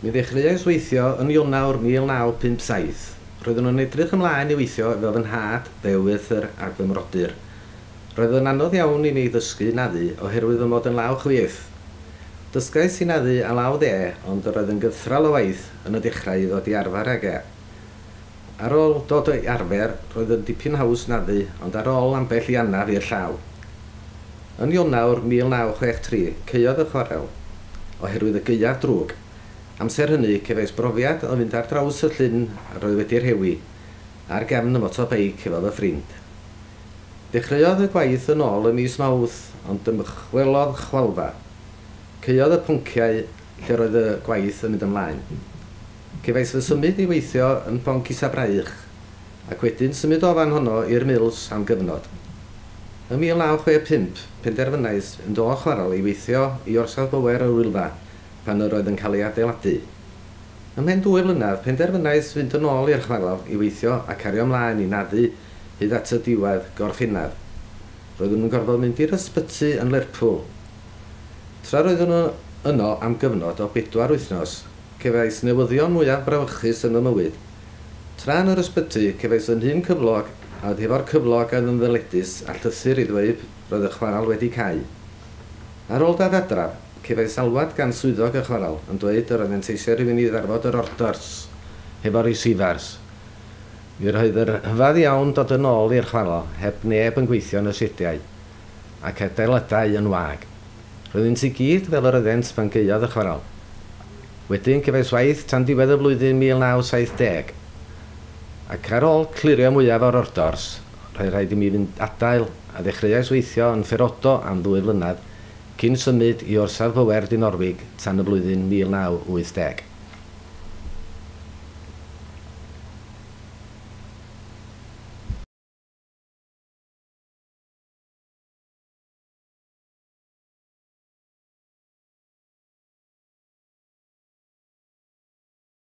Mi ddechreuais weithio yn Ionawr 1957. Roeddwn yn edrych ymlaen i weithio efo fy nhad, fy ewythr ac fy mrodyr. Roedd yn anodd iawn i mi ddysgu naddu oherwydd fy mod yn law chwith. Dysgais i naddu â law dde, ond yr oedd yn gythral o waith yn y dechrau i ddod i arfer ag e. Ar ôl dod i arfer, roedd yn dipyn haws naddu, ond ar ôl ambell i anaf i'r llaw. Yn Ionawr 1963, caeodd y chwarel, oherwydd y gaeaf drwg. Amser hynny, cefais brofiad o fynd ar draws y llyn a roedd wedi rhewi, ar gefn y motobeic efo fy ffrind. Dechreuodd y gwaith yn ôl ym mis Mawrth, ond dymchwelodd chwalfa. Caeodd y ponciau lle roedd y gwaith yn mynd ymlaen. Cefais fy symud i weithio yn Ponc Isa Braich, ac wedyn symud o fan honno i'r Mills am gyfnod. Ym 1965, penderfynais fynd o chwarel i weithio i orsaf bŵer yr Wylfa, pan yr oedd yn cael ei adeiladu. Ymhen 2 flynedd, penderfynais fynd yn ôl i'r chwarel i weithio a cario ymlaen i naddu hyd at y diwedd Gorffennaf. Roeddwn yn gorfod mynd i'r ysbyty yn Lerpwl. Tra roeddwn yno am gyfnod o 4 wythnos, cefais newyddion mwyaf brawychus yn fy mywyd. Tra yn yr ysbyty, cefais fy nhyn cyflog a oedd hefo'r cyflog oedd yn ddyledus a llythyr i ddweud roedd y chwarel wedi cau. Ar ôl dad adref, cefais alwad gan swyddog y chwarel yn dweud yr oeddent eisiau rhywun i ddarfod yr ordors hefo'r receivers. Mi roedd yr rhyfedd iawn dod yn ôl i'r chwarel heb neb yn gweithio yn y siediau ac adeiladau yn wag. Roeddynt i gyd fel yr oeddent pan gaeodd y chwarel. Wedyn cefais waith tan diwedd y flwyddyn 1970, ac ar ôl clirio mwyaf o'r ordors, roedd rhaid i mi fynd adael a ddechreuais weithio yn Ferodo am 2 flynedd cyn symud i orsaf bŵer Dinorwig tan y flwyddyn 1980.